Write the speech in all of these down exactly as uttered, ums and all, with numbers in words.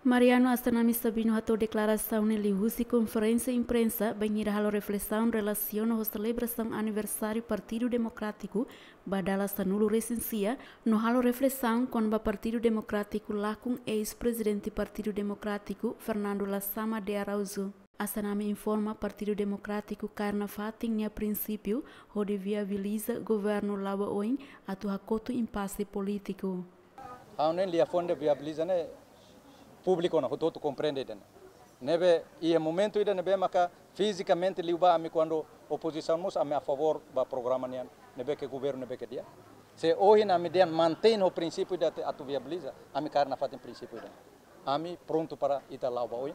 Mariano Assanami Sabino hato'o deklarasaun ne'e liuhusi konferénsia imprensa bainhira halo reflesaun relasiona ho selebrasaun aniversáriu Partidu Demokrátiku ba dala sanulu-resin-sia, no halo reflesaun kona-ba Partidu Demokrátiku lakon eis-prezidente Partidu Demokrátiku, Fernando Lasama de Araújo. Assanami informa Partidu Demokrátiku kaer nafatin nia prinsípiu hodi viabiliza governu la'o ba oin atu hakotu impase polítiku. Ha'u-nia liafuan ida viabiliza ne'e públiku ona hotu-hotu komprende ida-ne'e. Ne'ebé iha momentu ida ne'ebé maka fizikamente liu ba ami kuandu opozisaun mós ami a favór ba programa nian ne'ebé ke governu ne'ebé ke di'ak. Se ohin ami dehan mantein ho prinsípiu ida te atu viabiliza, ami kaer nafatin prinsípiu ida. Ami prontu para ita la'o ba oin.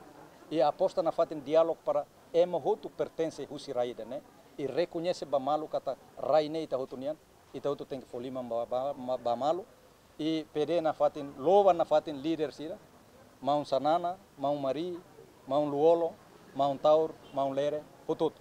I aposta nafatin diálogu para ema hotu pertense husi rai ida-ne'e. I rekoñese ba malu katak rai ne'e ita hotu nian. Ita hotu tenke fó liman ba, ba, ba, ba malu. I pede nafatin, loba nafatin líder sira. Maun Xanana, Maun Mari, Maun Lú-Olo, Maun Taur, Maun Lere, hotu-hotu.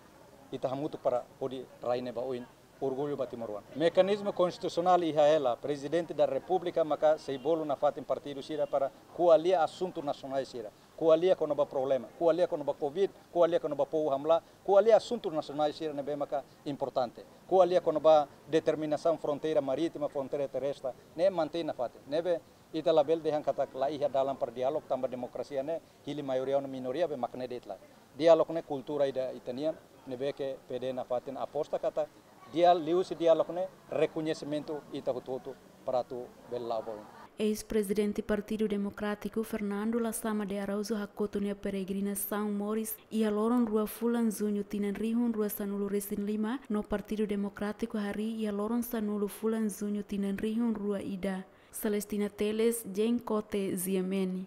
Ita hamutuk para hodi rai ne'e ba oin. Orgullu ba timoroan. Mekanizmu konstitusionál iha hela, Prezidente da Repúblika maka sei bolu nafatin partidu sira para ko'alia asuntu nasionál sira. Ko'alia kona-ba problema, ko'alia kona-ba covid, ko'alia kona-ba povu hamlaha, ko'alia asuntu nasionál sira ne'ebé maka importante. Ko'alia kona-ba determinasaun fronteira marítima, fronteira terrestre, ne'e mantein nafatin. Ne'ebé ita labele dehan katak la iha dalan para diálogu tanba demokrasia ne'e hili maioria no minoria be mak ne'e de'it lae. Diálogu ne'e kultura ida ita-nian, ne'ebé ke pede nafatin aposta katak dia liuhusi diálogu ne'e rekoñesimentu ita hotu-hotu para atu bele la'o ba oin. Eis-prezidente Partidu Demokrátiku, Fernando Lasama de Araújo, hakotu nia peregrinasaun moris iha loron rua fulan Juñu tinan rihun rua sanulu-resin-lima, no Partidu Demokrátiku harii iha loron sanulu fulan Juñu tinan rihun rua ida. Celestina Teles, Jeng Kote, G M N.